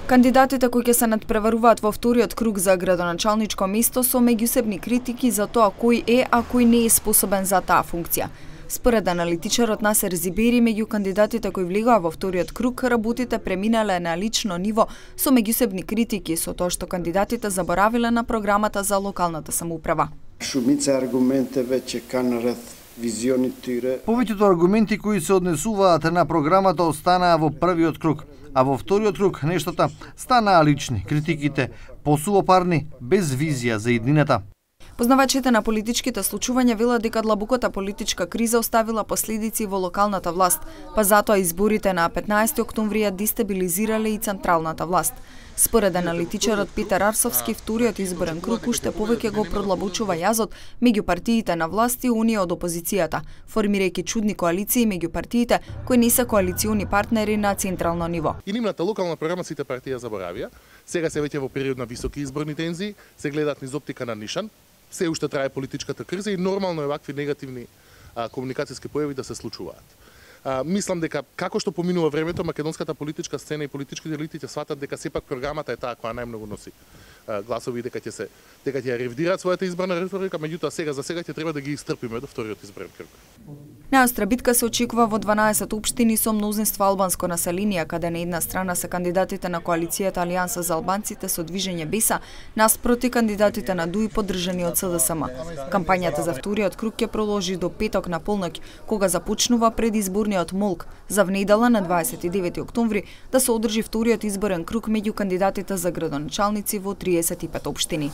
Кандидатите кои ќе се надпреваруваат во вториот круг за градоначалничко место со меѓусебни критики за тоа кој е, а кој не е способен за таа функција. Според аналитичарот Насер Зибери, меѓу кандидатите кои влегоа во вториот круг, работите преминале на лично ниво со меѓусебни критики со тоа што кандидатите заборавиле на програмата за локалната самоуправа. Шумица аргументе веќе канарат визионитира. Повеќето аргументи кои се однесуваат на програмата останаа во првиот круг, а во вториот круг нештата станаа лични, критиките посуопарни, без визија за иднината. Познавачите на политичките случувања велат дека длабоката политичка криза оставила последици во локалната власт, па затоа изборите на 15 октомври ја дестабилизирале и централната власт. Според аналитичарот Петар Арсовски, вториот изборен круг уште повеќе го продлабочува јазот меѓу партиите на власт и оние од опозицијата, формирајќи чудни коалиции меѓу партиите кои не се коалициони партнери на централно ниво. И нивната локална програма сите партија заборавија. Сега се веќе во период на високи изборни тензии, се гледаат низ оптика на нишан. Се уште трае политичката криза и нормално е вакви негативни комуникацијски појави да се случуваат. Мислам дека како што поминува времето, македонската политичка сцена и политичките елити ќе сватат дека сепак програмата е таа која најмногу носи гласови, дека ќе ја ревидираат својата изборна риторика, меѓутоа за сега ќе треба да ги истрпиме до вториот изборен круг. Најостра битка се очекува во 12 општини со мнозинство албанско население, каде на една страна се кандидатите на коалицијата Алијанса за албанците со движење Беса, наспроти кандидатите на ДУИ поддржани од СДСМ. Кампањата за вториот круг ќе продолжи до петок на полноќ, кога започнува предизборниот молк, за внедела на 29 октомври да се одржи вториот изборен круг меѓу кандидатите за градоначалници во 35 општини.